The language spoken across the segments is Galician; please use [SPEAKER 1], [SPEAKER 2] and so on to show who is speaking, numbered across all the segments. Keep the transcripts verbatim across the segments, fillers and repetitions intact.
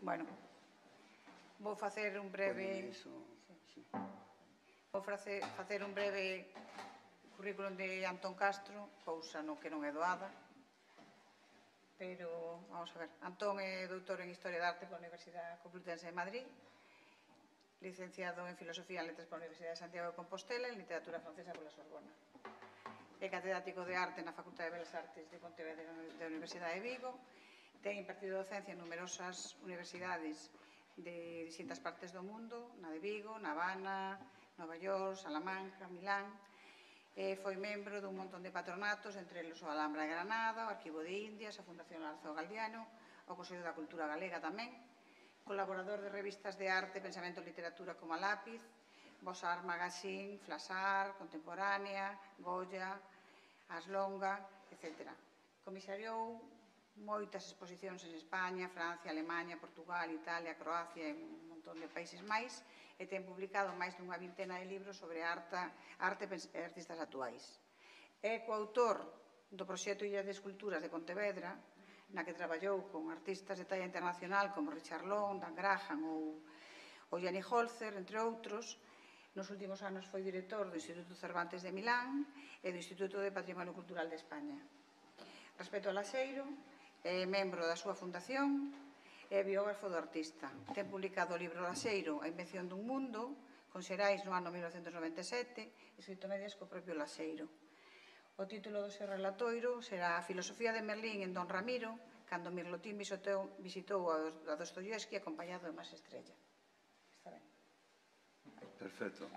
[SPEAKER 1] Bueno, vou facer un breve... Vou facer un breve currículum de Antón Castro, cousa no que non é doada, pero, vamos a ver, Antón é doutor en Historia da Arte pola Universidade Complutense de Madrid, licenciado en Filosofía e Letras pola Universidade de Santiago de Compostela e en Literatura Francesa pola Sorbona. É catedrático de Arte na Facultade de Belas Artes de Pontevedra da Universidade de Vigo, ten impartido docencia en numerosas universidades de distintas partes do mundo, na de Vigo, na Habana, Nova York, Salamanca, Milán. Eh, foi membro dun montón de patronatos, entre eles o Alhambra de Granada, o Arquivo de Indias, a Fundación Larzo Galdiano, o Consello da Cultura Galega tamén, colaborador de revistas de arte, pensamento e literatura como a Lápiz, Bosar Magazine, Flasar, Contemporánea, Goya, Aslonga, etcétera. Comisariou moitas exposicións en España, Francia, Alemania, Portugal, Italia, Croacia e un montón de países máis, e ten publicado máis dunha vintena de libros sobre arte e artistas actuais. É coautor do proxecto Illas de Esculturas de Pontevedra, na que traballou con artistas de talla internacional como Richard Long, Dan Graham ou Gianni Holzer, entre outros. Nos últimos anos foi director do Instituto Cervantes de Milán e do Instituto de Patrimonio Cultural de España. Respecto ao Laxeiro, é membro da súa fundación e biógrafo do artista. Ten publicado o libro Laxeiro, a invención dun mundo, con Xerais no ano mil novecentos noventa e sete, escrito medias co propio Laxeiro. O título do seu relatoiro será A filosofía de Merlín en Don Ramiro, cando Mirlotín visitou a Dostoyevsky acompañado de Mas Estrella. Está ben?
[SPEAKER 2] Perfecto.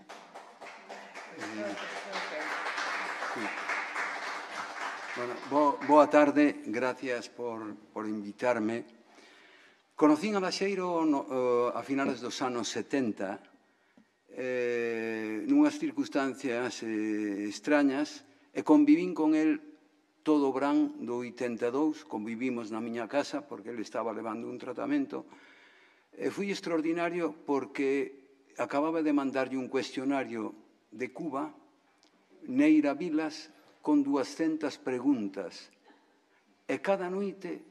[SPEAKER 2] Bueno, boa tarde, gracias por, por invitarme. Conocín a Laxeiro no, uh, a finales dos anos setenta, eh, nunhas circunstancias eh, extrañas, e convivín con el todo o verán do oitenta e dous, convivimos na miña casa porque ele estaba levando un tratamento, e foi extraordinario porque acababa de mandarlle un cuestionario de Cuba, Neira Vilas, con duascentas preguntas, e cada noite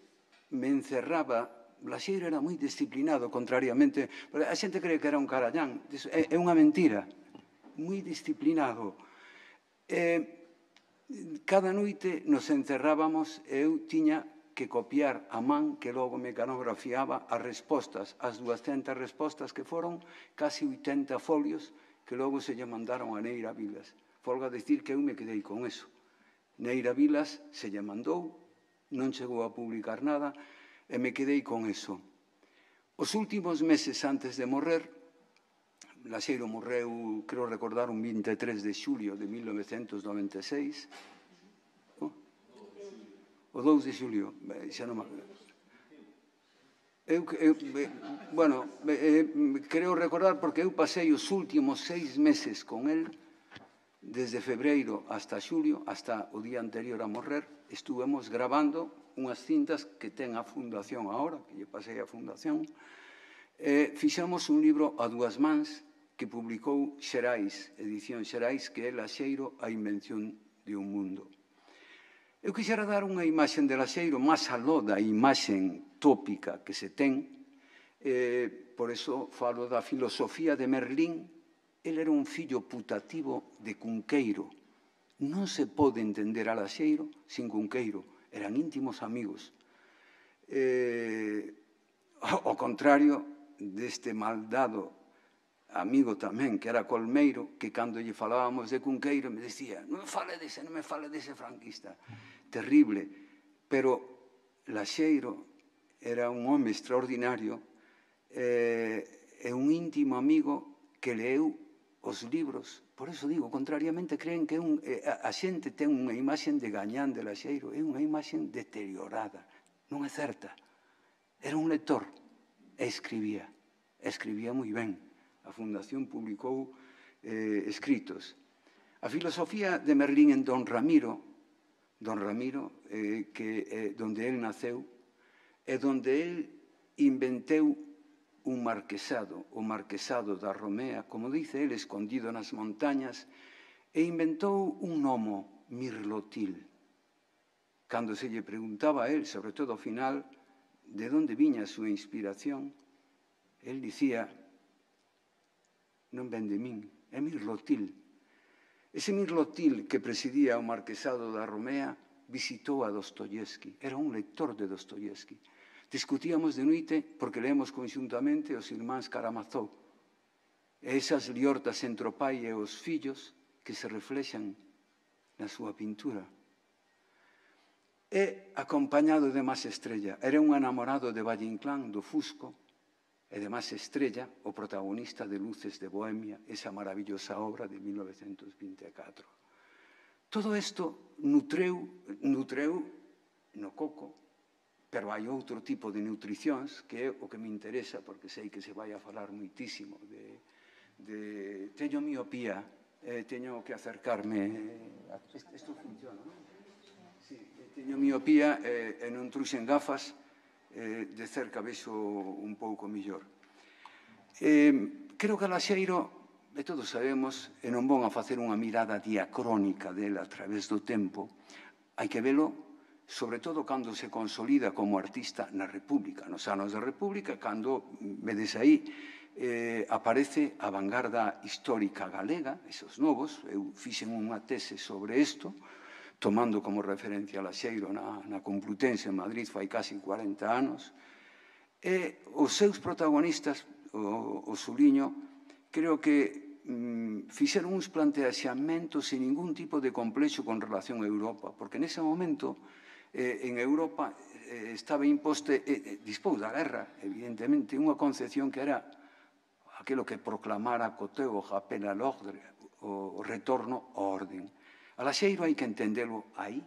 [SPEAKER 2] me encerraba. Laxeiro era moi disciplinado, contrariamente, a xente cree que era un carallán, é unha mentira, moi disciplinado. Cada noite nos encerrábamos e eu tiña que copiar a man, que logo me canografiaba as respostas, as duascentas respostas que foron casi oitenta folios que logo se lle mandaron a Neira Vilas. Folga decir que eu me quedei con eso. Neira Vilas se lle mandou, non chegou a publicar nada, e me quedei con eso. Os últimos meses antes de morrer, Laxeiro morreu, creo recordar, un vinte e tres de xulio de mil novecentos noventa e seis. O dous de xulio, xa non me... Eu, eu, bueno, creo recordar porque eu pasei os últimos seis meses con el, desde febreiro hasta xulio, hasta o día anterior a morrer, estuvemos grabando unhas cintas que ten a Fundación agora, que lle pasei a Fundación, e fixemos un libro a dúas mans que publicou Xerais, edición Xerais, que é Laxeiro, a invención de un mundo. Eu quixera dar unha imaxen de Laxeiro máis aló da imaxen tópica que se ten, por iso falo da filosofía de Merlín. El era un fillo putativo de Cunqueiro. Non se pode entender a Laxeiro sin Cunqueiro. Eran íntimos amigos. Ao contrario deste maldado amigo tamén, que era Colmeiro, que cando lle falábamos de Cunqueiro me decía, non me fale dese, non me fale dese franquista. Terrible. Pero Laxeiro era un home extraordinario e un íntimo amigo que leeu os libros. Por iso digo, contrariamente, creen que a xente ten unha imaxen de gañán de Laxeiro. É unha imaxen deteriorada. Non é certa. Era un lector e escribía. Escribía moi ben. A Fundación publicou escritos. A filosofía de Merlín en Don Ramiro, Don Ramiro, donde él naceu, é donde él inventeu un marquesado, o marquesado da Romea, como dice él, escondido nas montañas, e inventou un gnomo, Mirlotil. Cando se lle preguntaba a él, sobre todo ao final, de onde viña a súa inspiración, el dicía, non ven de min, é Mirlotil. Ese Mirlotil que presidía o marquesado da Romea visitou a Dostoyevsky, era un lector de Dostoyevsky. Discutíamos de noite porque leemos conxuntamente os irmáns Karamazov, e esas liortas entre o pai e os fillos que se reflexan na súa pintura. E acompañado de Mas Estrella, era un enamorado de Valle Inclán, do Fusco, e de Mas Estrella, o protagonista de Luces de Bohemia, esa maravillosa obra de mil novecentos vinte e catro. Todo isto nutreu, nutreu no coco, pero hai outro tipo de nutricións que é o que me interesa, porque sei que se vai a falar moitísimo de, de teño miopía, eh, teño que acercarme, a, isto funciona, non? Sí, teño miopía e, e non truxen gafas, eh, de cerca vexo un pouco millor. Eh, creo que Laxeiro, e todos sabemos, e non vou a facer unha mirada diacrónica dela a través do tempo, hai que velo sobre todo cando se consolida como artista na República, nos anos da República, cando, vedes aí, eh, aparece a vanguarda histórica galega, esos novos, eu fixen unha tese sobre isto, tomando como referencia a Laxeiro na, na Complutense en Madrid fai casi cuarenta anos, e os seus protagonistas, o, o Suliño, creo que mm, fixeron uns planteaxamentos sin ningún tipo de complexo con relación a Europa, porque nese momento eh, en Europa eh, estaba imposte, eh, dispós da guerra, evidentemente, unha concepción que era aquilo que proclamara Coteu, o rappel à l'ordre, o retorno ao orden. A Laxeiro hai que entendelo aí,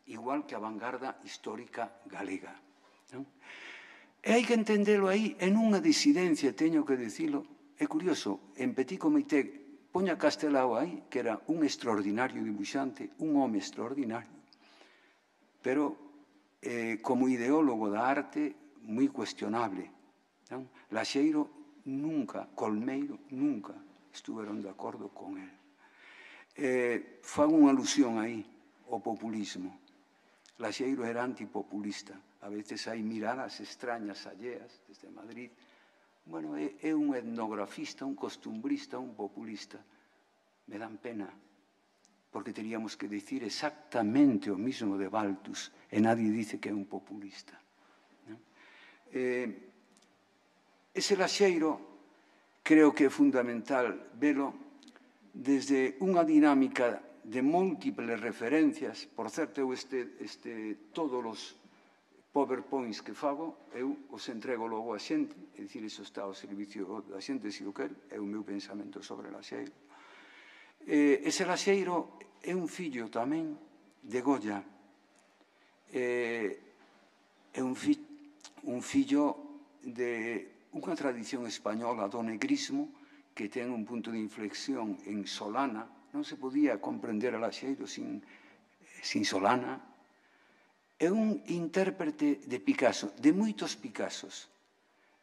[SPEAKER 2] igual que a vanguarda histórica galega. Non? E hai que entendelo aí en unha disidencia, teño que dicilo. É curioso, en Petit Comité, poña Castelao aí, que era un extraordinario dibuixante, un home extraordinario, pero eh, como ideólogo da arte, moi cuestionable. Non? Laxeiro nunca, Colmeiro nunca estuveron de acordo con él. Eh, fan unha alusión aí ao populismo. Laxeiro era antipopulista. A veces hai miradas extrañas alleas desde Madrid. Bueno, é, é un etnografista, un costumbrista, un populista. Me dan pena, porque teríamos que dicir exactamente o mismo de Baltus, e nadie dice que é un populista. ¿No? Eh, ese Laxeiro creo que é fundamental velo desde unha dinámica de múltiples referencias. Por certo, eu este, este, todos os PowerPoints que fago, eu os entrego logo a xente, é dicir, iso está ao servicio da xente, se o quer, é o meu pensamento sobre Laxeiro. Eh, ese Laxeiro é un fillo tamén de Goya, eh, é un, fi, un fillo de unha tradición española do negrismo que ten un punto de inflexión en Solana. Non se podía comprender a Laxeiro sin, sin Solana. É un intérprete de Picasso, de moitos Picassos.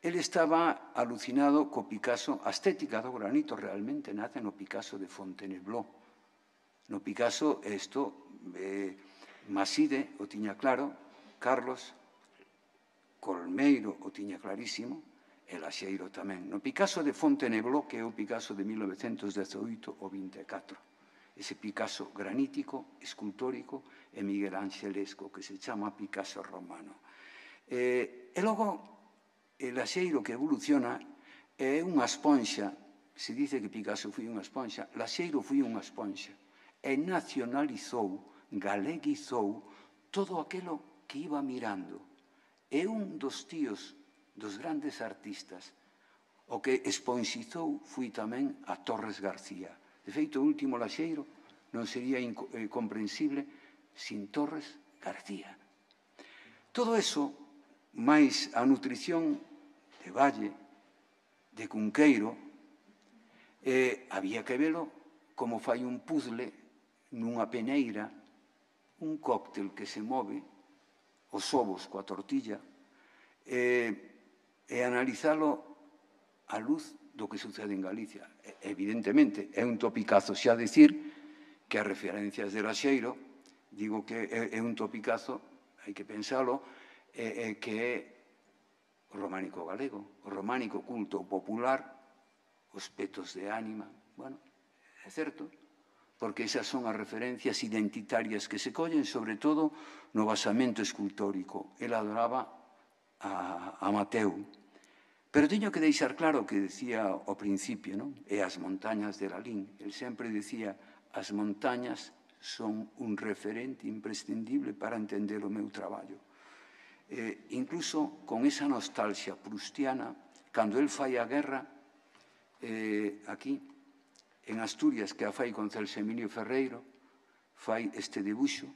[SPEAKER 2] Ele estaba alucinado co Picasso, a estética do granito realmente nace no Picasso de Fontainebleau. No Picasso, isto, eh, Maside o tiña claro, Carlos, Colmeiro o tiña clarísimo, e Laxeiro tamén. No Picasso de Fontainebleau, que é o Picasso de mil novecentos dezoito ou vinte e catro. Ese Picasso granítico, escultórico e miguelanxelesco, que se chama Picasso romano. Eh, e logo, el Laxeiro que evoluciona é unha esponxa. Se dice que Picasso foi unha esponxa, Laxeiro foi unha esponxa. E nacionalizou, galeguizou todo aquilo que iba mirando. É un dos tíos dos grandes artistas. O que exponxizou foi tamén a Torres García. De feito, o último Laxeiro non sería comprensible sin Torres García. Todo eso, máis a nutrición de Valle, de Cunqueiro, eh, había que velo como fai un puzzle nunha peneira, un cóctel que se move, os ovos coa tortilla, eh, e analizalo á luz do que sucede en Galicia. Evidentemente, é un topicazo xa dicir que as referencias de Laxeiro, digo que é un topicazo, hai que pensalo, é que é o románico galego, o románico culto popular, os petos de ánima. Bueno, é certo, porque esas son as referencias identitarias que se collen, sobre todo, no basamento escultórico. El adoraba a, a Mateu. Pero teño que deixar claro que decía ao principio, non? E as montañas de Lalín. El sempre decía, as montañas son un referente imprescindible para entender o meu traballo. Eh, incluso con esa nostalgia prustiana, cando el fai a guerra, eh, aquí, en Asturias, que a fai con Celso Emilio Ferreiro, fai este debuxo,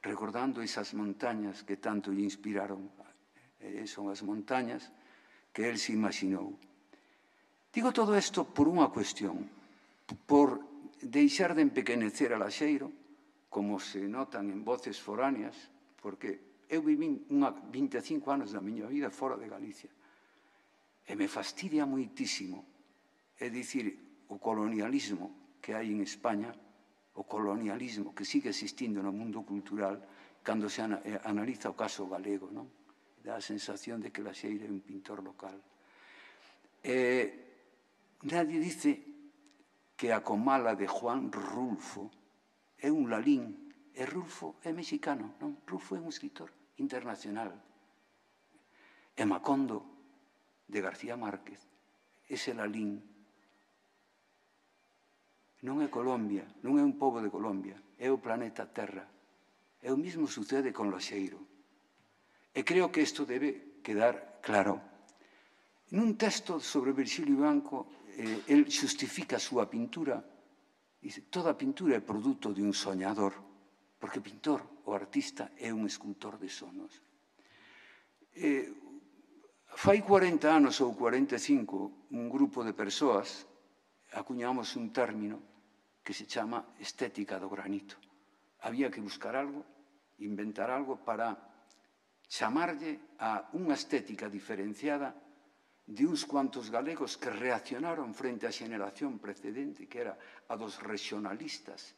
[SPEAKER 2] recordando esas montañas que tanto lle inspiraron. Eh, son as montañas que el se imaginou. Digo todo isto por unha cuestión, por deixar de empequenecer a Laxeiro, como se notan en voces foráneas, porque eu vivín unha vinte e cinco anos da miña vida fora de Galicia, e me fastidia moitísimo, é dicir, o colonialismo que hai en España, o colonialismo que sigue existindo no mundo cultural, cando se analiza o caso galego, non? Dá a sensación de que Laxeiro é un pintor local. Eh, nadie dice que a comala de Juan Rulfo é un Lalín, e Rulfo é mexicano, non? Rulfo é un escritor internacional. E Macondo, de García Márquez, ese Lalín, non é Colombia, non é un pobo de Colombia, é o planeta Terra. E o mesmo sucede con Laxeiro. E creo que isto debe quedar claro. Nun texto sobre Virxilio Banco, eh, el xustifica a súa pintura, dice, toda pintura é produto de un soñador, porque o pintor, o artista, é un escultor de sonos. Eh, fai cuarenta anos ou cuarenta e cinco, un grupo de persoas acuñamos un término que se chama estética do granito. Había que buscar algo, inventar algo para chamarlle a unha estética diferenciada de uns cuantos galegos que reaccionaron frente á xeneración precedente, que era a dos regionalistas,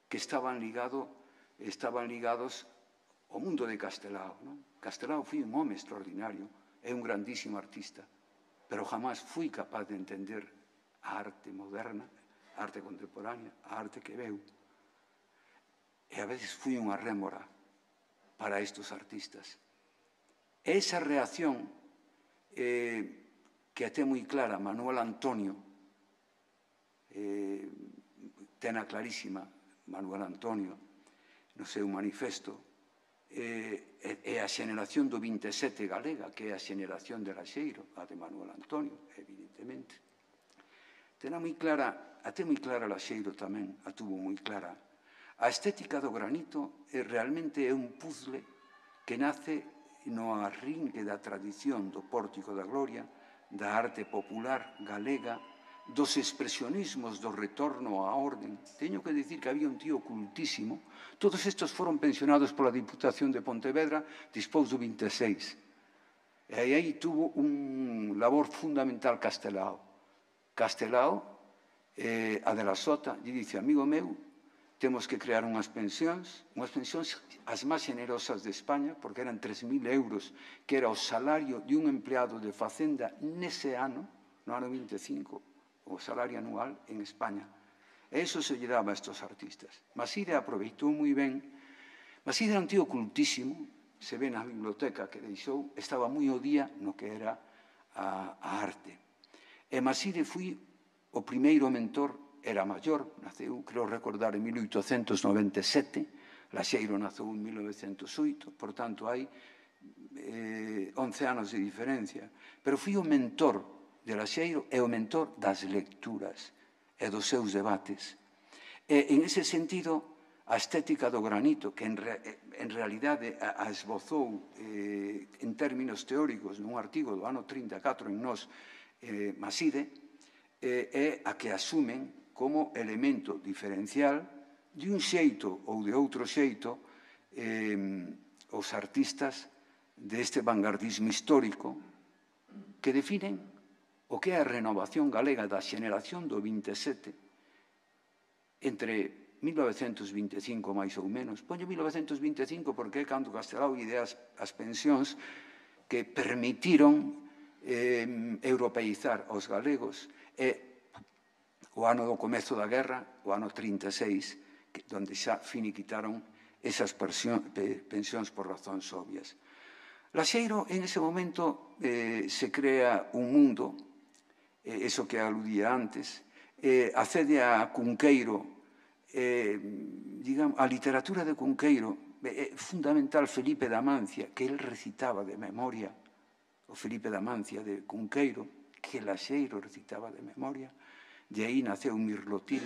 [SPEAKER 2] que estaban, ligado, estaban ligados ao mundo de Castelao. Non? Castelao foi un home extraordinario, é un grandísimo artista, pero jamás fui capaz de entender a arte moderna, a arte contemporánea, a arte que veu. E a veces fui unha rémora para estes artistas. E esa reacción eh, que até moi clara Manuel Antonio, eh, tena clarísima Manuel Antonio no seu manifesto, eh, é a xeneración do vinte e sete galega, que é a xeneración de Laxeiro, a de Manuel Antonio, evidentemente. Tena moi clara, até moi clara Laxeiro tamén, a tuvo moi clara. A estética do granito é, realmente é un puzzle que nace no arrinque da tradición do Pórtico da Gloria, da arte popular galega, dos expresionismos do retorno á orden. Teño que dicir que había un tío cultísimo. Todos estes foron pensionados pola Diputación de Pontevedra despois do vinte e seis. E aí tuvo un labor fundamental Castelao. Castelao, eh, a de la Sota, lle dice, amigo meu, temos que crear unhas pensións, unhas pensións as máis generosas de España, porque eran tres mil euros, que era o salario de un empleado de Facenda nese ano, no ano vinte e cinco, o salario anual en España. E iso se lle daba a estes artistas. Maside aproveitou moi ben. Maside era un tío cultísimo, se ve na biblioteca que deixou, estaba moi ao día no que era a, a arte. E Maside foi o primeiro mentor, era maior, naceu, creo recordar, en mil oitocentos noventa e sete, Laxeiro naceu en mil novecentos oito, por tanto, hai eh, once anos de diferencia. Pero foi o mentor de Laxeiro e o mentor das lecturas e dos seus debates. E, en ese sentido, a estética do granito, que en, re, en realidade a, a esbozou eh, en términos teóricos nun artigo do ano trinta e catro en Nós, eh, Maside, eh, é a que asumen como elemento diferencial de un xeito ou de outro xeito eh, os artistas deste vanguardismo histórico que definen o que é a renovación galega da xeneración do vinte e sete entre mil novecentos vinte e cinco máis ou menos. Poño mil novecentos vinte e cinco porque é cando Castelao idea as, as pensións que permitiron eh, europeizar aos galegos e o ano do comezo da guerra, o ano trinta e seis, que, donde xa finiquitaron esas pensións por razóns obvias. Laxeiro, en ese momento, eh, se crea un mundo, eh, eso que aludía antes, eh, accede a Cunqueiro, eh, digamos, a literatura de Cunqueiro, é eh, fundamental Felipe de Amancia, que él recitaba de memoria, o Felipe de Amancia de Cunqueiro, que Laxeiro recitaba de memoria, de aí naceu Mirlotil.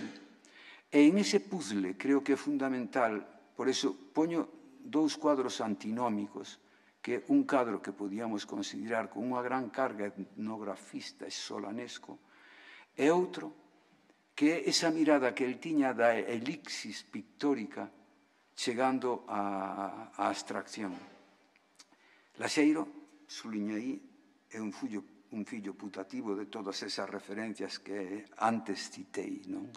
[SPEAKER 2] E en ese puzzle creo que é fundamental, por eso poño dous cuadros antinómicos, que un cadro que podíamos considerar con unha gran carga etnografista e solanesco, e outro que é esa mirada que el tiña da elixis pictórica chegando á abstracción. Laxeiro, suliña aí, é un fillo un fillo putativo de todas esas referencias que antes citei, non?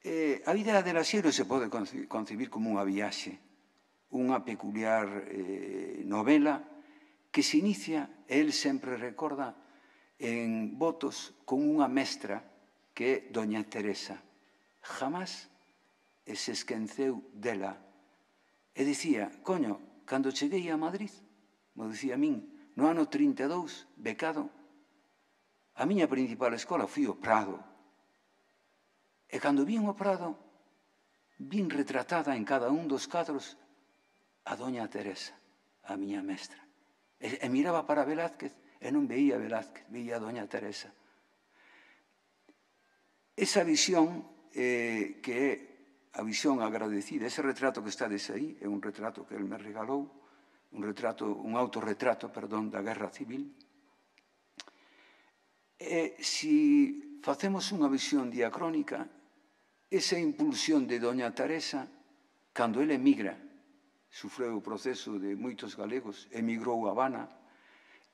[SPEAKER 2] Eh, a vida de Laxeiro se pode concebir como unha viaxe, unha peculiar eh, novela que se inicia, el sempre recorda, en votos con unha mestra que é Doña Teresa. Jamás se esqueceu dela. E dicía, coño, cando cheguei a Madrid, mo dicía a min, no ano trinta e dous, becado, a miña principal escola foi o Prado. E cando vin o Prado, vin retratada en cada un dos cadros a Doña Teresa, a miña mestra. E, e miraba para Velázquez e non veía Velázquez, veía a Doña Teresa. Esa visión eh, que é a visión agradecida, ese retrato que está dese aí, é un retrato que el me regalou, un retrato, un autorretrato, perdón, da Guerra Civil. E se facemos unha visión diacrónica, esa impulsión de Doña Teresa, cando ele emigra, sufreu o proceso de moitos galegos, emigrou a Habana,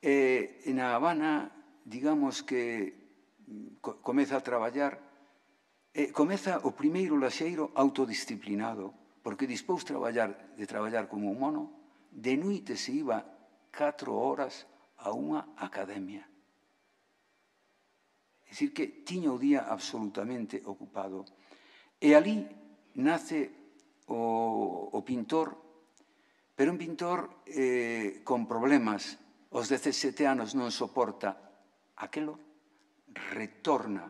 [SPEAKER 2] e na Habana, digamos que comeza a traballar, e comeza o primeiro Laxeiro autodisciplinado, porque dispós traballar, de traballar como un mono, de noite se iba catro horas a unha academia. É dicir, que tiña o día absolutamente ocupado. E ali nace o, o pintor, pero un pintor eh, con problemas. Aos dezasete anos non soporta aquelo, retorna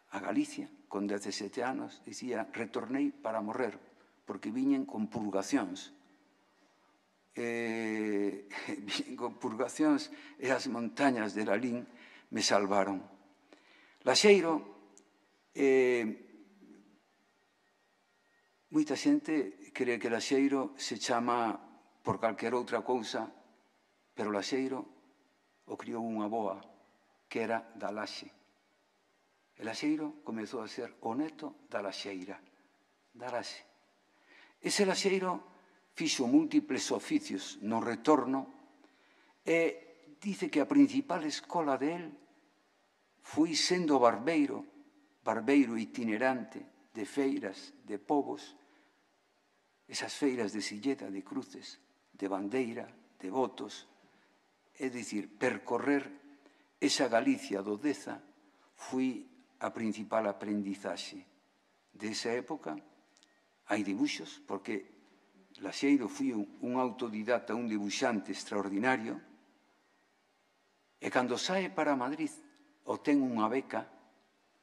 [SPEAKER 2] a Galicia, con dezasete anos, dicía, retornei para morrer, porque viñen con purgacións. Eh, con purgacións e as montañas de Lalín me salvaron. Laxeiro, eh, moita xente cree que Laxeiro se chama por calquera outra cousa, pero Laxeiro o criou unha boa, que era da Laxe. E Laxeiro comezou a ser o neto da Laxeira, da Laxe. Ese Laxeiro fixo múltiples oficios no retorno e dice que a principal escola de él foi sendo barbeiro, barbeiro itinerante de feiras, de povos, esas feiras de Silleda, de Cruces, de Bandeira, de Botos, é dicir, percorrer esa Galicia do Deza foi a principal aprendizaxe. Desa época hai dibuxos, porque Laxeiro foi un autodidata, un dibuxante extraordinario, e cando sae para Madrid obtén unha beca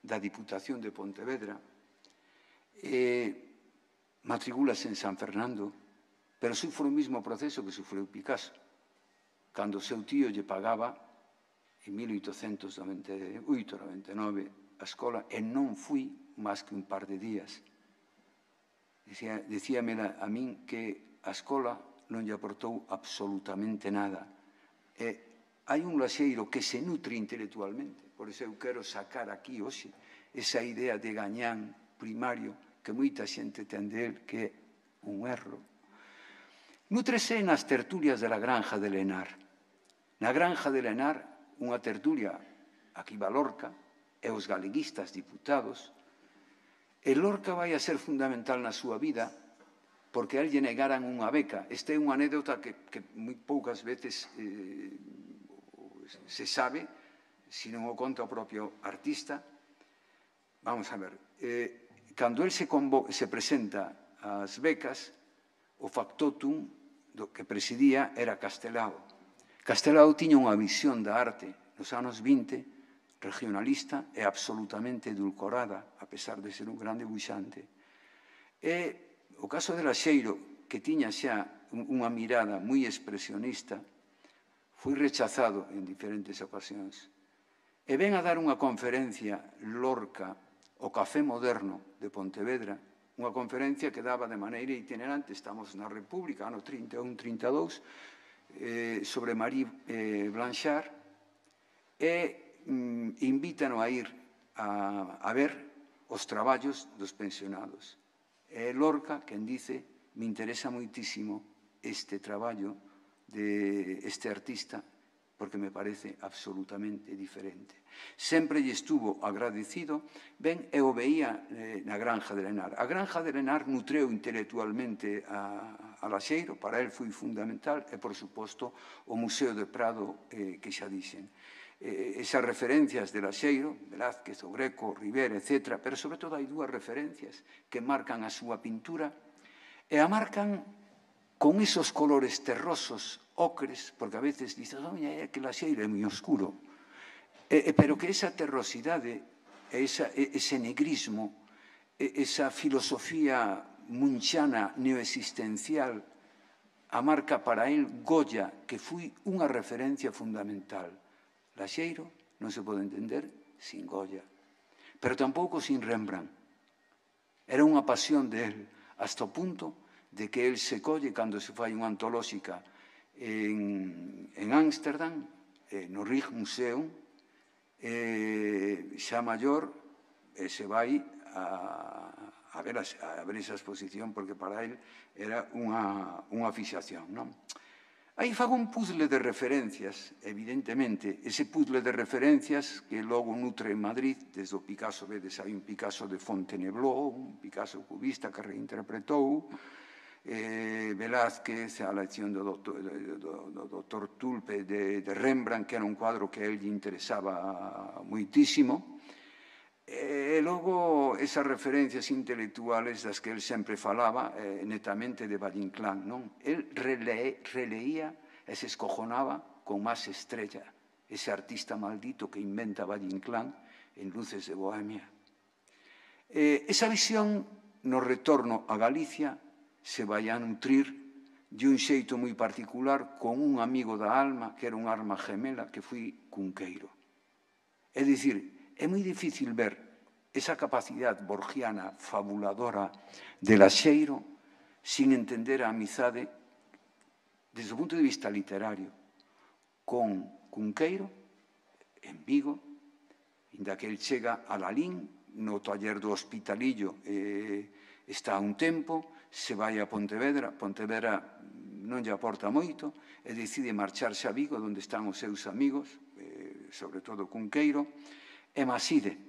[SPEAKER 2] da Diputación de Pontevedra, e matricúlase en San Fernando, pero sufre o mesmo proceso que sufreu Picasso, cando o seu tío lle pagaba en mil oitocentos noventa e oito noventa e nove a escola e non fui máis que un par de días. Dicíame a min que a escola non lle aportou absolutamente nada. E hai un Laxeiro que se nutre intelectualmente, por iso eu quero sacar aquí hoxe esa idea de gañán primario que moita xente ten de él, que é un erro. Nútrese nas tertulias de la Granja de Lenar. Na Granja de Lenar, unha tertulia, aquí va Lorca, e os galeguistas diputados, e Lorca vai a ser fundamental na súa vida porque a él lle negaran unha beca. Esta é unha anécdota que, que moi poucas veces eh, se sabe, se non o conta o propio artista. Vamos a ver, eh, cando él se, se presenta ás becas, o factotum do que presidía era Castelao. Castelao tiña unha visión da arte nos anos vinte, regionalista e absolutamente edulcorada, a pesar de ser un gran debuxante. E o caso de Laxeiro, que tiña xa unha mirada moi expresionista, foi rechazado en diferentes ocasións. E ven a dar unha conferencia Lorca, o Café Moderno de Pontevedra, unha conferencia que daba de maneira itinerante, estamos na República, ano trinta e un trinta e dous, eh, sobre Marie eh, Blanchard, e mm, invítano a ir a, a ver os traballos dos pensionados. É Lorca quen dice, me interesa moitísimo este traballo de este artista porque me parece absolutamente diferente. Sempre lle estuvo agradecido, ben, e o veía eh, na Granja de Lenar. A Granja de Lenar nutreu intelectualmente a, a Laxeiro, para el foi fundamental, e, por suposto, o Museo de Prado, eh, que xa dixen. Eh, esas referencias de Laxeiro, Velázquez, o Greco, Rivera, etcétera, pero sobre todo hai dúas referencias que marcan a súa pintura e a marcan con esos colores terrosos, ocres, porque a veces dices, oye, é que Laxeiro é moi oscuro, e, e, pero que esa terrosidade, esa, ese negrismo, esa filosofía munchana neoexistencial, a marca para él Goya, que foi unha referencia fundamental. Laxeiro non se pode entender sin Goya, pero tampouco sin Rembrandt. Era unha pasión de él, hasta o punto de que él se colle cando se fai unha antolóxica en, en Ámsterdam, eh, no Rijksmuseum, eh, xa maior, e se vai a, a, ver a, a ver esa exposición, porque para él era unha, unha fixación, non? Aí fago un puzzle de referencias, evidentemente, ese puzzle de referencias que logo nutre en Madrid, desde o Picasso, vedes, hai un Picasso de Fontainebleau, un Picasso cubista que reinterpretou, eh, Velázquez, a lección do doctor, do, do, do doctor Tulpe de, de Rembrandt, que era un cuadro que a él lle interesaba moitísimo, e logo esas referencias intelectuales das que el sempre falaba, eh, netamente de Valle Inclán, non? El rele, releía e se escojonaba con Más Estrella, ese artista maldito que inventa Valle Inclán en Luces de Bohemia. Eh, esa visión no retorno a Galicia se vai a nutrir de un xeito moi particular con un amigo da alma, que era un alma gemela, que foi Cunqueiro. É dicir, é moi difícil ver esa capacidade borgiana fabuladora de Laxeiro sin entender a amizade desde o punto de vista literario con Cunqueiro en Vigo, inda que el chega a Lalín, no taller do Hospitalillo eh, está un tempo, se vai a Pontevedra, Pontevedra non lle aporta moito, e decide marcharse a Vigo, onde están os seus amigos, eh, sobre todo Cunqueiro, e Maside.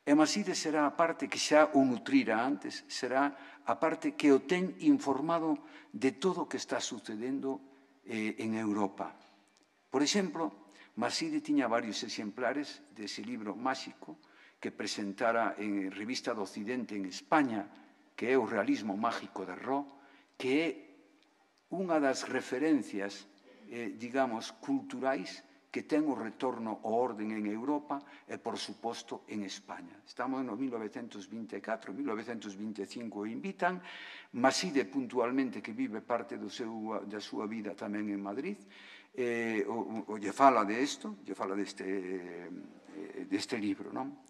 [SPEAKER 2] E Maside será a parte que xa o nutrira antes, será a parte que o ten informado de todo o que está sucedendo eh, en Europa. Por exemplo, Maside tiña varios exemplares dese libro máxico que presentara en Revista do Occidente en España, que é o realismo mágico de Ró, que é unha das referencias, eh, digamos, culturais que ten o retorno ao orden en Europa e, por suposto, en España. Estamos no mil novecentos vinte e catro, mil novecentos vinte e cinco o invitan, Maside puntualmente, que vive parte do seu, da súa vida tamén en Madrid, eh, o, o lle fala de isto, lle fala deste, eh, deste libro, non?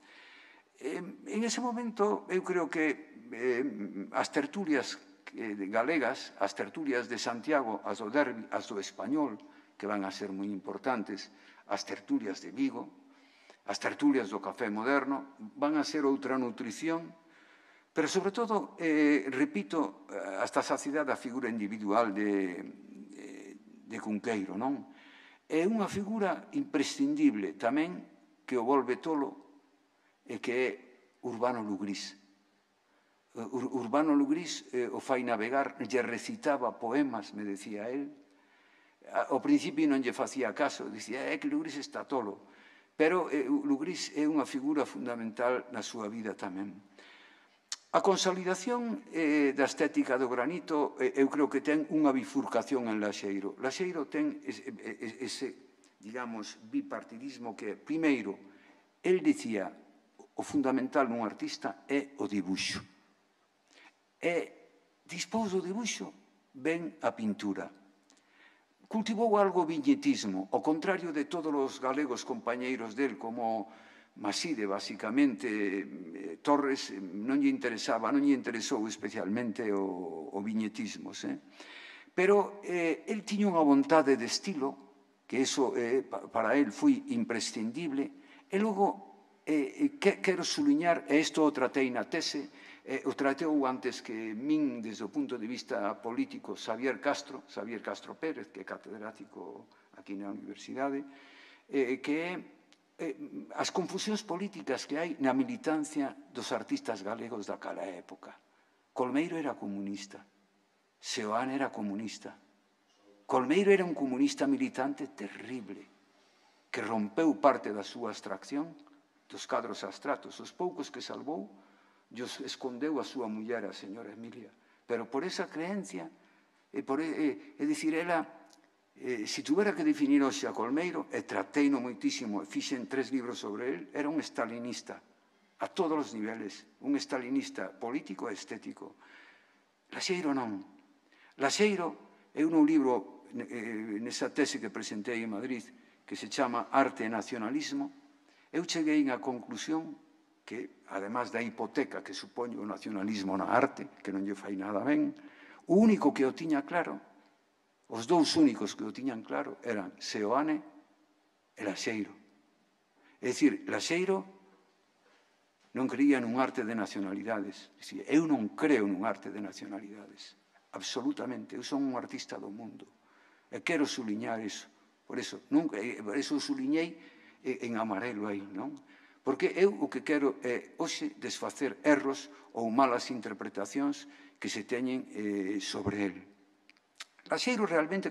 [SPEAKER 2] Eh, en ese momento, eu creo que eh, as tertulias eh, galegas, as tertulias de Santiago, as do Derbi, as do Español, que van a ser moi importantes, as tertulias de Vigo, as tertulias do Café Moderno, van a ser outra nutrición, pero, sobre todo, eh, repito, hasta a saciedade da figura individual de, de, de Cunqueiro, non? É unha figura imprescindible tamén que o volve tolo e que é Urbano Lugrís. Urbano Lugrís o fai navegar, lle recitaba poemas, me decía él. Ao principio non lle facía caso, dicía, é que Lugrís está tolo. Pero Lugrís é unha figura fundamental na súa vida tamén. A consolidación da estética do granito, eu creo que ten unha bifurcación en Laxeiro. Laxeiro ten ese, digamos, bipartidismo que, primeiro, el dicía, o fundamental nun artista é o dibuixo. E, dispós do dibuixo, ven a pintura. Cultivou algo viñetismo, ao contrario de todos os galegos compañeiros del, como Maside, basicamente, Torres, non lle interesaba, non lle interesou especialmente o viñetismo. Pero el tiña unha vontade de estilo, que iso para el foi imprescindible, e logo quero suliñar, e isto o tratei na tese, o trateu antes que min, desde o punto de vista político, Xavier Castro, Xavier Castro Pérez, que é catedrático aquí na universidade, que é as confusións políticas que hai na militancia dos artistas galegos daquela época. Colmeiro era comunista, Seoane era comunista. Colmeiro era un comunista militante terrible, que rompeu parte da súa abstracción dos cadros abstratos. Os poucos que salvou, Dios escondeu a súa muller, a señora Emilia. Pero por esa creencia, é dicir, ela, se tuvera que definir hoxe a Colmeiro, e trateino moitísimo, e fixen tres libros sobre el, era un stalinista, a todos os niveles, un stalinista político e estético. Laxeiro non. Laxeiro é un libro, nesa tese que presentei en Madrid, que se chama Arte e Nacionalismo. Eu cheguei á conclusión que, además da hipoteca que supoñe o nacionalismo na arte, que non lle fai nada ben, o único que o tiña claro, os dous únicos que o tiñan claro, eran Seoane e Laxeiro. É dicir, Laxeiro non creía nun arte de nacionalidades. Eu non creo nun arte de nacionalidades, absolutamente. Eu son un artista do mundo e quero suliñar iso. Por iso, por iso suliñei en amarelo aí, non? Porque eu o que quero é, hoxe, desfacer erros ou malas interpretacións que se teñen sobre el. Laxeiro realmente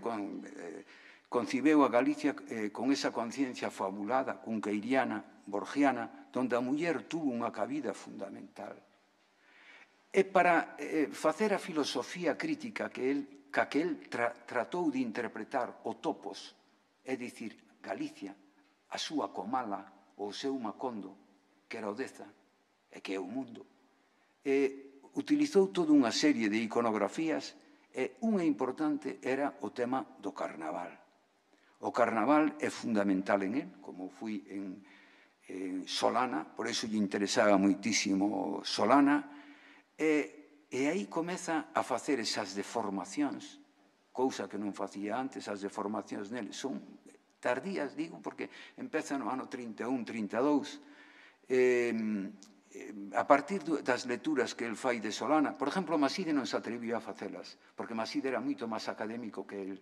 [SPEAKER 2] concibeu a Galicia con esa conciencia fabulada, cunqueiriana, borgiana, donde a muller tuvo unha cabida fundamental. E para facer a filosofía crítica que el tratou de interpretar o topos, é dicir, Galicia, a súa comala, o seu Macondo, que era o Deza, e que é o mundo, utilizou toda unha serie de iconografías, e unha importante era o tema do carnaval. O carnaval é fundamental en él, como fui en Solana, por iso lle interesaba moitísimo Solana, e aí comeza a facer esas deformacións, cousa que non facía antes, as deformacións nele son tardías, digo, porque empeza no ano trinta e un, trinta e dous, a partir das lecturas que el fai de Solana. Por exemplo, Maside non se atreviu a facelas, porque Maside era moito máis académico que el.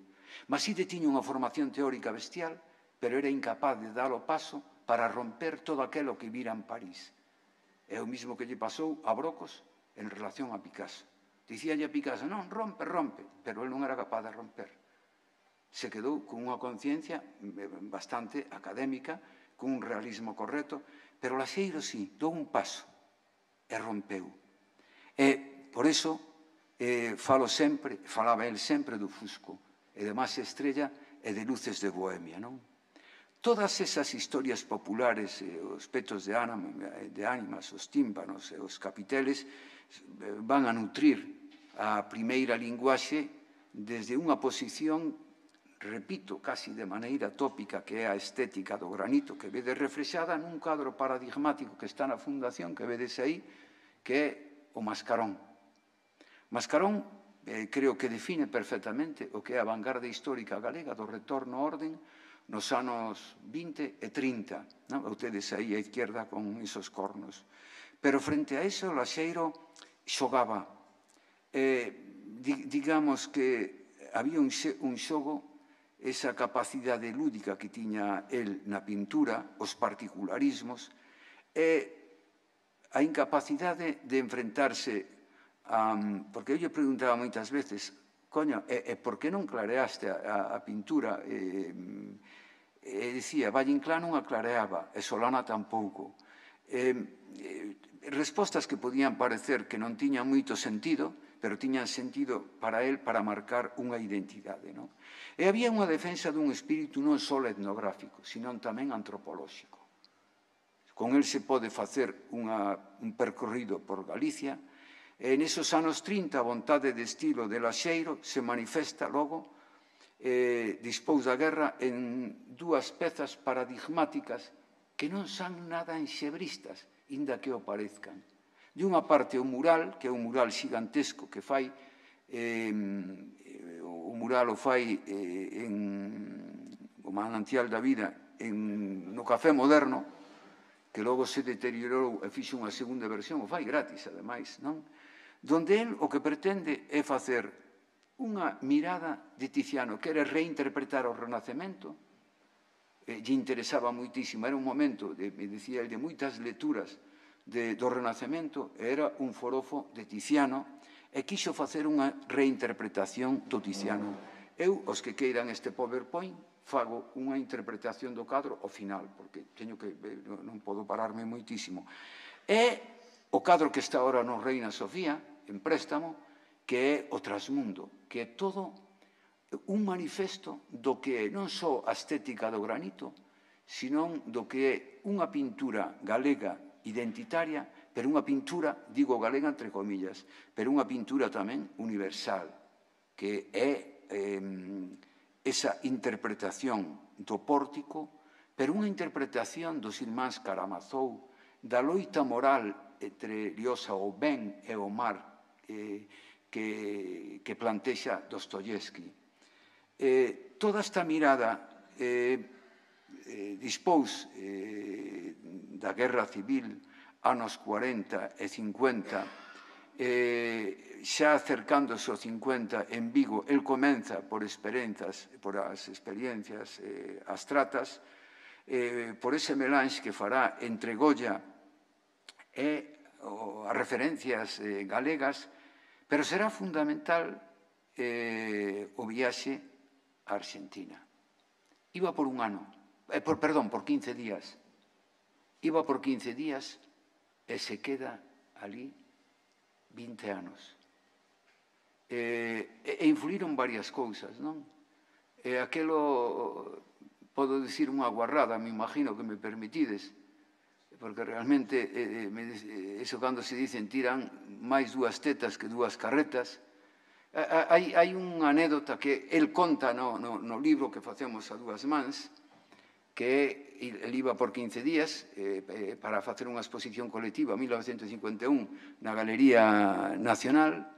[SPEAKER 2] Maside tiña unha formación teórica bestial, pero era incapaz de dar o paso para romper todo aquilo que vira en París. É o mismo que lle pasou a Brocos en relación a Picasso. Dicíalle a Picasso, non, rompe, rompe, pero el non era capaz de romper. Se quedou con unha conciencia bastante académica, con un realismo correcto, pero Laxeiro sí, dou un paso e rompeu. E, por iso, falo sempre, falaba el sempre do Fusco, e de Mase Estrella e de Luces de Bohemia, non? Todas esas historias populares, os petos de ánimas, os tímpanos e os capiteles, van a nutrir a primeira linguaxe desde unha posición, repito, casi de maneira tópica, que é a estética do granito, que vedes reflexada nun cadro paradigmático que está na fundación, que vedes aí, que é o Mascarón. Mascarón, creo que define perfectamente o que é a vanguarda histórica galega do retorno ao orden nos anos vinte e trinta. Ustedes aí á izquierda con esos cornos. Pero frente a iso, Laxeiro xogaba. Digamos que había un xogo, esa capacidade lúdica que tiña el na pintura, os particularismos, e a incapacidade de enfrentarse um, porque eu lle preguntaba moitas veces, coño, e, e por que non clareaste a, a, a pintura? E, e dicía, Valle Inclán non a clareaba, e Solana tampouco. E, e, respostas que podían parecer que non tiñan moito sentido, pero tiñan sentido para él para marcar unha identidade. Non? E había unha defensa dun espírito non só etnográfico, sino tamén antropolóxico. Con el se pode facer unha, un percorrido por Galicia, e nesos anos trinta a vontade de estilo de Laxeiro se manifesta logo eh, dispós da guerra en dúas pezas paradigmáticas que non son nada enxebristas, inda que o parezcan. De unha parte o mural, que é un mural xigantesco que fai, eh, o mural o fai eh, en o manantial da vida en, no Café Moderno, que logo se deteriorou e fixo unha segunda versión, o fai gratis, ademais, non? Donde el o que pretende é facer unha mirada de Tiziano, que era reinterpretar o Renacemento, e lle interesaba moitísimo, era un momento, de, me decía el, de moitas lecturas de, do Renacemento, era un forofo de Tiziano, e quixo facer unha reinterpretación do Tiziano. Eu, os que queiran este PowerPoint, fago unha interpretación do cadro ao final, porque teño que, non podo pararme moitísimo. É o cadro que está ahora no Reina Sofía, en préstamo, que é o Trasmundo, que é todo un manifesto do que é non só a estética do granito, sino do que é unha pintura galega identitaria, pero unha pintura, digo galega entre comillas, pero unha pintura tamén universal, que é eh, esa interpretación do pórtico, pero unha interpretación dos irmáns Karamazov, da loita moral entre Liosa o ben e o mar eh, que, que plantexa Dostoyevsky. Eh, toda esta mirada eh, eh, dispós eh, da guerra civil, anos cuarenta e cincuenta, eh, xa acercándose ao cincuenta en Vigo, el comeza por experiencias, por as experiencias eh, astratas, eh, por ese melange que fará entre Goya e o, as referencias eh, galegas, pero será fundamental eh, o viaxe a Argentina. Iba por un ano, eh, por, perdón, por quince días. Iba por quince días e se queda ali vinte anos. E, e influíron varias cousas, non? E aquelo, podo dicir unha guarrada, me imagino que me permitides, porque realmente, eh, me, eso cando se dicen tiran máis dúas tetas que dúas carretas. Hai, hai unha anécdota que el conta no, no, no libro que facemos a dúas mans, que el iba por quince días eh, para facer unha exposición colectiva en mil novecentos cincuenta e un na Galería Nacional,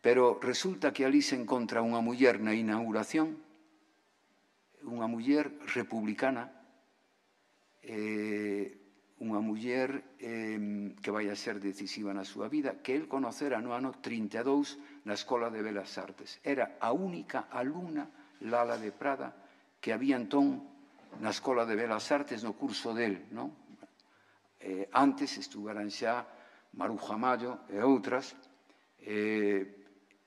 [SPEAKER 2] pero resulta que ali se encontra unha muller na inauguración, unha muller republicana, eh, unha muller eh, que vai a ser decisiva na súa vida, que el conocera no ano trinta e dous na Escola de Belas Artes. Era a única alumna, Lala de Prada, que había entón na Escola de Belas Artes no curso del, non? Eh, antes estuveran xa Maruja Mallo e outras. Eh,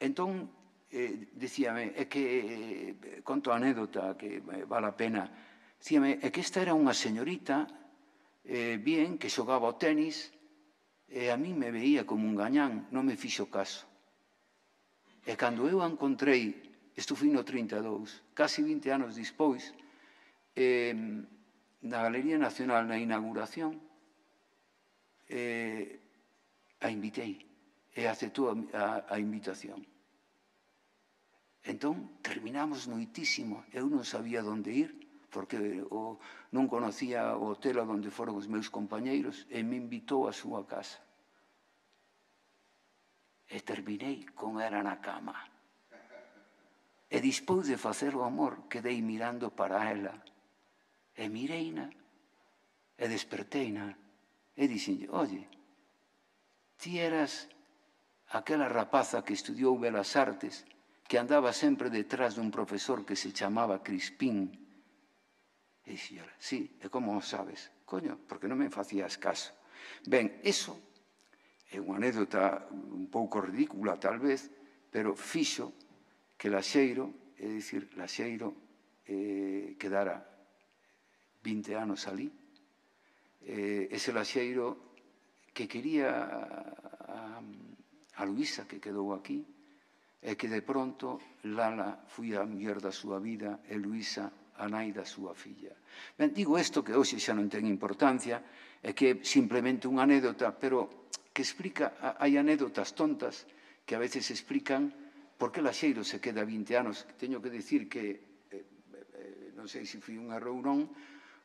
[SPEAKER 2] entón, eh, dicíame, é que, eh, conto a anécdota que vale a pena, dicíame, é que esta era unha señorita eh, bien, que xogaba o tenis, e a mí me veía como un gañán, non me fixo caso. E cando eu a encontrei, isto foi no trinta e dous, casi vinte anos dispois, Eh, na Galería Nacional, na inauguración, eh, a invitei e aceptou a, a, a invitación. Entón, terminamos noitísimo. Eu non sabía onde ir, porque o, non conocía o hotel onde foron os meus compañeiros, e me invitou a súa casa. E terminei con era na cama. E despois de facer o amor, quedei mirando para ela. E mireina, e desperteina, e dixenlle, oye, ti eras aquela rapaza que estudiou Belas Artes, que andaba sempre detrás dun profesor que se chamaba Crispín. E dixenlle, sí, e como o sabes? Coño, porque non me facías caso. Ben, eso é unha anécdota un pouco ridícula, tal vez, pero fixo que Laxeiro, é dicir, Laxeiro eh, quedara vinte anos ali. Eh, ese Laxeiro que quería a, a Luisa, que quedou aquí, e que de pronto Lala foi a muller da súa vida e Luisa a nai da súa filla. Ben, digo isto que hoxe xa non ten importancia, é que é simplemente unha anécdota, pero que explica, hai anécdotas tontas que a veces explican por que Laxeiro se queda vinte anos. Teño que dicir que, eh, eh, non sei se foi un erro ou non,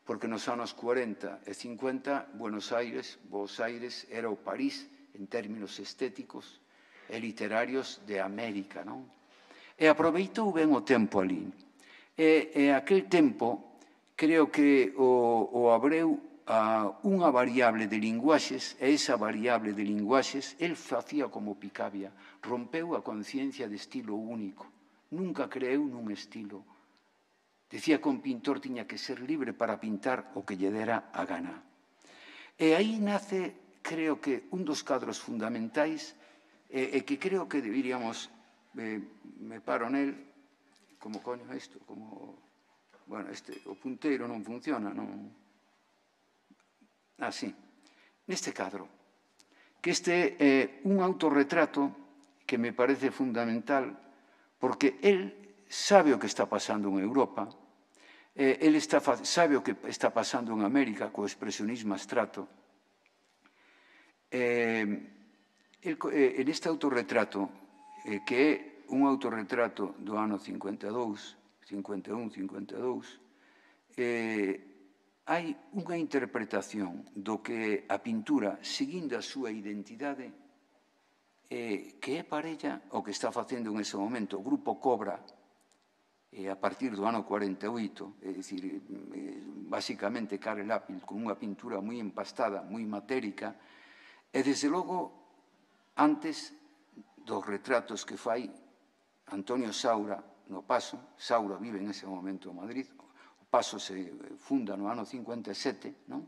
[SPEAKER 2] porque nos anos cuarenta e cincuenta, Buenos Aires, Buenos Aires era o París en términos estéticos e literarios de América, non? E aproveitou ben o tempo ali. E, e aquel tempo, creo que o, o abreu a unha variable de linguaxes, e esa variable de linguaxes, el facía como Picabia, rompeu a conciencia de estilo único, nunca creeu nun estilo. Decía que un pintor tiña que ser libre para pintar o que lle dera a gana. E aí nace, creo que, un dos cadros fundamentais e, e que creo que deberíamos, eh, me paro nel, como coño isto, como, bueno, este, o punteiro non funciona, non... Ah, sí, neste cadro, que este é eh, un autorretrato que me parece fundamental porque el sabe o que está pasando en Europa, eh, el está, sabe o que está pasando en América co expresionismo abstracto. Eh, el, eh, en este autorretrato, eh, que é un autorretrato do ano cincuenta e dous, cincuenta e un, cincuenta e dous, eh, hai unha interpretación do que a pintura, seguindo a súa identidade, eh, que é parella o que está facendo en ese momento o Grupo Cobra, eh, a partir do ano cuarenta e oito, é dicir, eh, basicamente Karel Appel, con unha pintura moi empastada, moi matérica, e desde logo, antes dos retratos que fai Antonio Saura no Paso, Saura vive en ese momento en Madrid, o Paso se funda no ano cincuenta e sete, non?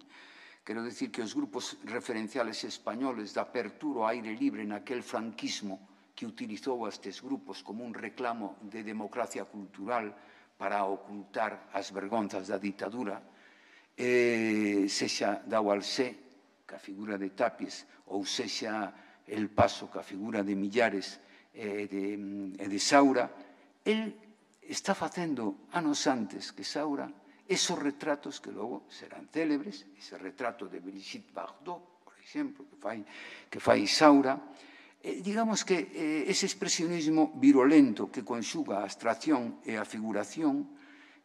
[SPEAKER 2] Quero dicir que os grupos referenciales españoles da apertura ao aire libre naquel franquismo que utilizou estes grupos como un reclamo de democracia cultural para ocultar as vergonzas da ditadura, eh, sexa da Ualsé, que a figura de Tapies, ou sexa El Paso, que a figura de Millares e de, e de Saura, el está facendo anos antes que Saura esos retratos que logo serán célebres, ese retrato de Brigitte Bardot, por exemplo, que fai, que fai Saura, eh, digamos que eh, ese expresionismo virulento que conxuga a abstracción e a figuración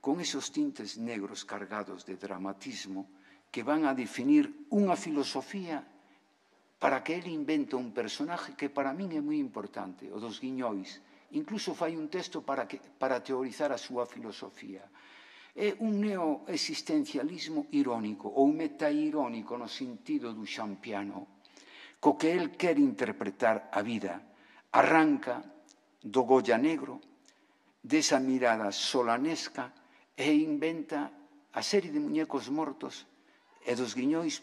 [SPEAKER 2] con esos tintes negros cargados de dramatismo que van a definir unha filosofía para que ele inventa un personaje que para min é moi importante, o dos guiñois. Incluso fai un texto para, que, para teorizar a súa filosofía. É un neoexistencialismo irónico ou metairónico no sentido do xampiano, co que el quer interpretar a vida. Arranca do Goya negro, desa mirada solanesca e inventa a serie de muñecos mortos e dos guiñois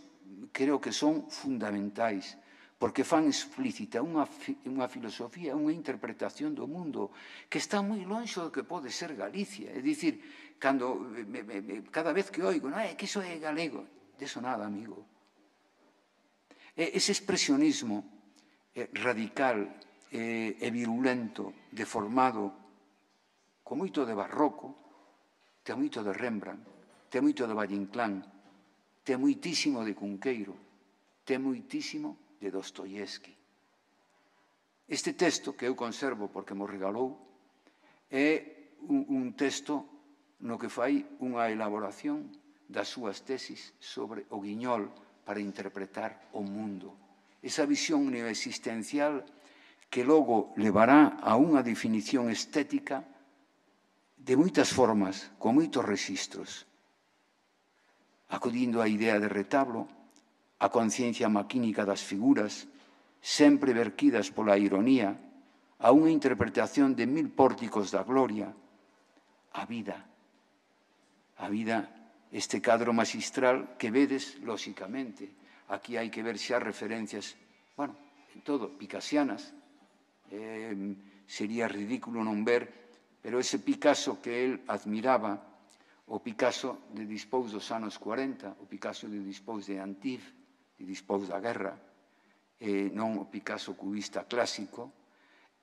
[SPEAKER 2] creo que son fundamentais, porque fan explícita unha, unha filosofía, unha interpretación do mundo que está moi longe do que pode ser Galicia. É dicir, cando, me, me, cada vez que oigo, non é que iso é galego, deso nada, amigo. Ese expresionismo eh, radical eh, e virulento, deformado, con moito de barroco, ten moito de Rembrandt, ten moito de Valle Inclán, ten moitísimo de Cunqueiro, ten moitísimo de Dostoievski. Este texto, que eu conservo porque mo regalou, é un, un texto no que fai unha elaboración das súas tesis sobre o guiñol para interpretar o mundo. Esa visión neoexistencial que logo levará a unha definición estética de moitas formas, con moitos rexistros, acudindo á idea de retablo, a conciencia maquínica das figuras, sempre verquidas pola ironía, a unha interpretación de mil pórticos da gloria, a vida. A vida, este cadro magistral que vedes, lóxicamente. Aquí hai que ver xa referencias, bueno, todo, picasianas. Eh, sería ridículo non ver, pero ese Picasso que el admiraba, o Picasso de dispós dos anos cuarenta, o Picasso de dispós de Antibes, de dispós da guerra, eh, non o Picasso cubista clásico,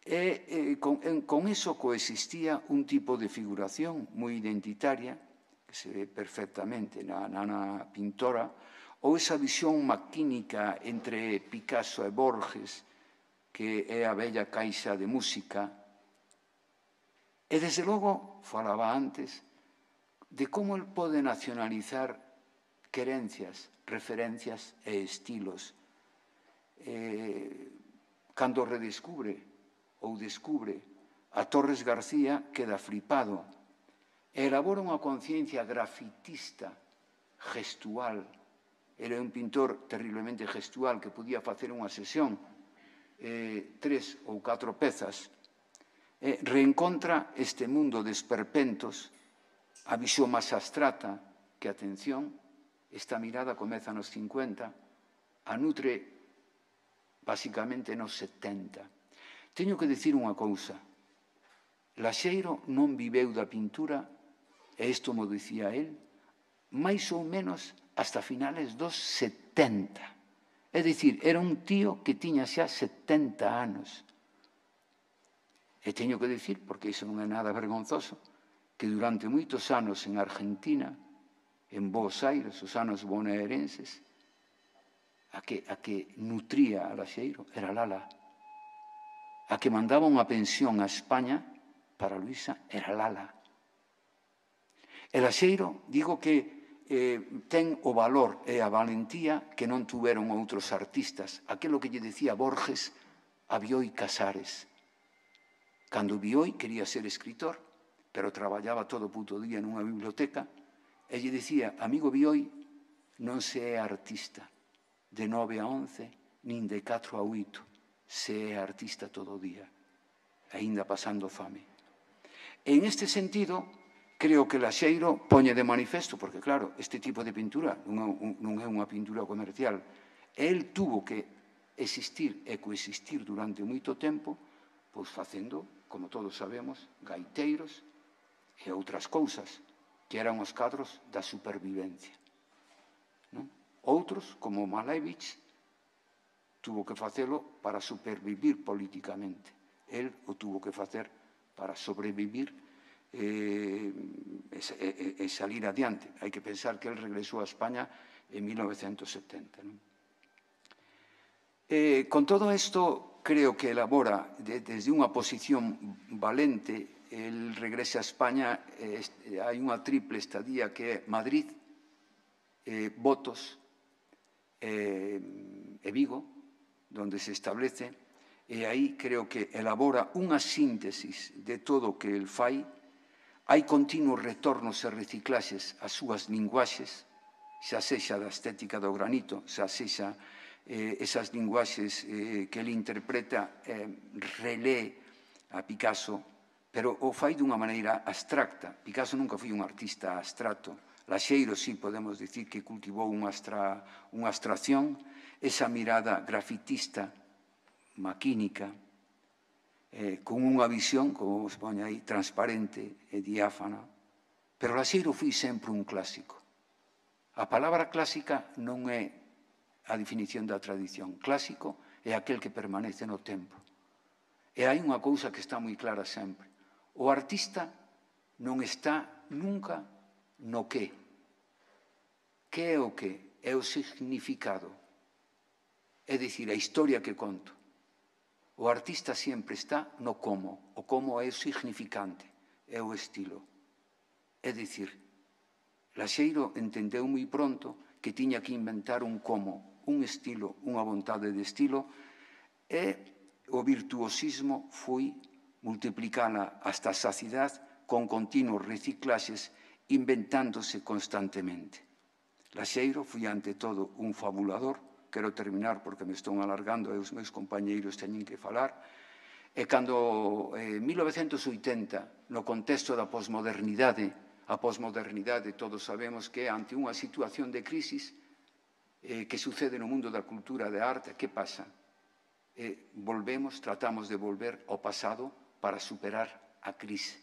[SPEAKER 2] e eh, con, en, con eso coexistía un tipo de figuración moi identitaria, que se ve perfectamente na nana pintora, ou esa visión maquínica entre Picasso e Borges, que é a bella caixa de música. E, desde logo, falaba antes de como el pode nacionalizar querencias, referencias e estilos. Eh, cando redescubre ou descubre a Torres García, queda flipado. Elabora unha conciencia grafitista, gestual. Era un pintor terriblemente gestual que podía facer unha sesión, eh, tres ou catro pezas. Eh, reencontra este mundo de esperpentos, a visión máis abstrata, que, atención, esta mirada comeza nos cincuenta, a nutre basicamente nos setenta. Teño que dicir unha cousa. Laxeiro non viveu da pintura, e isto mo dicía el, máis ou menos hasta finales dos setenta. É dicir, era un tío que tiña xa setenta anos. E teño que dicir, porque iso non é nada vergonzoso, que durante moitos anos en Argentina, en Buenos Aires, os anos bonaerenses, a que, a que nutría a Laxeiro era Lala. A que mandaba unha pensión a España para Luisa era Lala. E Laxeiro, digo que eh, ten o valor e a valentía que non tuveron outros artistas. Aquilo que lle decía Borges a Bioy Casares. Cando Bioy quería ser escritor, pero traballaba todo o puto día nunha biblioteca, e lle dicía, amigo Bioy, non se é artista de nove a once, nin de catro a oito, se é artista todo o día, aínda pasando fame. En este sentido, creo que Laxeiro poñe de manifesto, porque claro, este tipo de pintura non é unha pintura comercial, el tuvo que existir e coexistir durante moito tempo, pois facendo, como todos sabemos, gaiteiros e outras cousas, que eran os cadros da supervivencia. Non? Outros, como Malevich, tuvo que facelo para supervivir políticamente. El o tuvo que facer para sobrevivir eh, e, e, e salir adiante. Hai que pensar que el regresou a España en mil novecentos setenta. Non? Eh, con todo isto, creo que elabora de, desde unha posición valente. El regresa a España, eh, hai unha triple estadía que é Madrid, eh, Botos eh, e Vigo, donde se establece, e aí creo que elabora unha síntesis de todo o que el fai. Hai continuos retornos e reciclaxes ás súas linguaxes, xa sexa da estética do granito, xa sexa eh, esas linguaxes eh, que el interpreta, eh, relé a Picasso, pero o fai dunha maneira abstracta. Picasso nunca foi un artista abstracto. Laxeiro, sí, podemos dicir que cultivou unha, abstra, unha abstracción, esa mirada grafitista, maquínica, eh, con unha visión, como se pone aí, transparente e diáfana. Pero Laxeiro foi sempre un clásico. A palabra clásica non é a definición da tradición. Clásico é aquel que permanece no tempo. E hai unha cousa que está moi clara sempre. O artista non está nunca no que. Que é o que? É o significado. É dicir, a historia que conto. O artista sempre está no como. O como é o significante, é o estilo. É dicir, Laxeiro entendeu moi pronto que tiña que inventar un como, un estilo, unha vontade de estilo, e o virtuosismo foi multiplicala hasta a sacidade con continuos reciclaxes, inventándose constantemente. Laxeiro foi, ante todo, un fabulador. Quero terminar porque me estou alargando e os meus compañeiros teñen que falar. E cando, en mil novecentos oitenta, no contexto da posmodernidade, a posmodernidade todos sabemos que é ante unha situación de crisis eh, que sucede no mundo da cultura e da arte, que pasa? e volvemos, tratamos de volver ao pasado para superar a crise.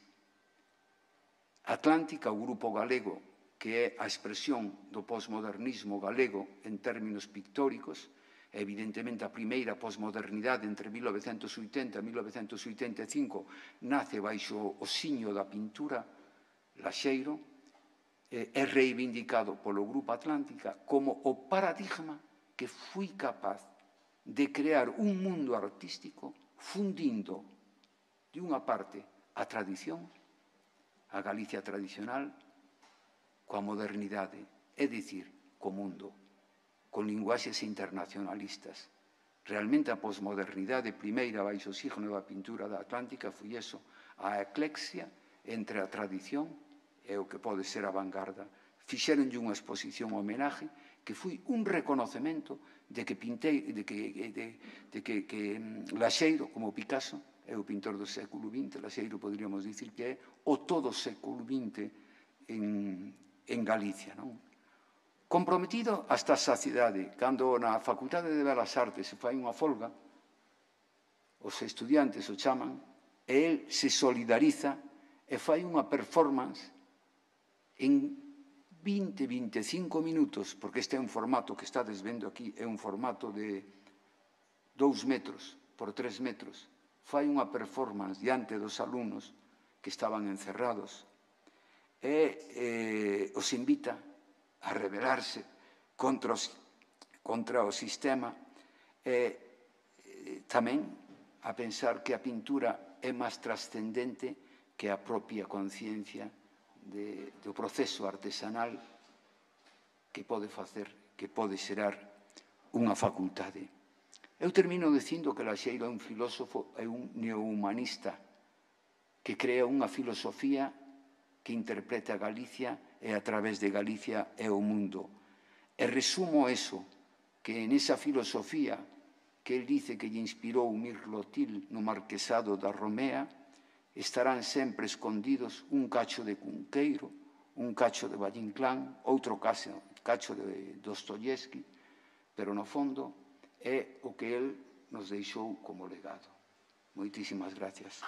[SPEAKER 2] Atlántica, o grupo galego, que é a expresión do posmodernismo galego en términos pictóricos, evidentemente a primeira posmodernidade entre mil novecentos oitenta e mil novecentos oitenta e cinco nace baixo o siño da pintura Laxeiro, é reivindicado polo Grupo Atlántica como o paradigma que foi capaz de crear un mundo artístico fundindo, de unha parte, a tradición, a Galicia tradicional, coa modernidade, é dicir, co mundo, con linguaxes internacionalistas. Realmente a posmodernidade primeira baixo o signo da pintura da Atlántica foi eso, a eclexia entre a tradición e o que pode ser a vanguarda. Fixeronlle unha exposición homenaje que foi un reconocemento de que pintei, de que, de, de que, que Laxeiro, como Picasso, é o pintor do século vinte, Laxeiro podríamos dicir que é o todo século vinte en, en Galicia, non? Comprometido hasta a saciedade. Cando na Facultade de Belas Artes se fai unha folga, os estudiantes o chaman, e el se solidariza e fai unha performance en vinte, veinticinco minutos, porque este é un formato que estades vendo aquí, é un formato de dous metros por tres metros. Fai unha performance diante dos alumnos que estaban encerrados e eh, os invita a rebelarse contra, os, contra o sistema e eh, tamén a pensar que a pintura é máis trascendente que a propia conciencia de, do proceso artesanal que pode facer, que pode xerar unha facultade. Eu termino dicindo que Laxeiro é un filósofo, é un neohumanista que crea unha filosofía que interpreta a Galicia e a través de Galicia é o mundo. E resumo eso, que en esa filosofía que el dice que lle inspirou Mirlotil no Marquesado da Romea, estarán sempre escondidos un cacho de Cunqueiro, un cacho de Valle Inclán, outro cacho, cacho de Dostoyevsky, pero no fondo é o que el nos deixou como legado. Moitísimas gracias.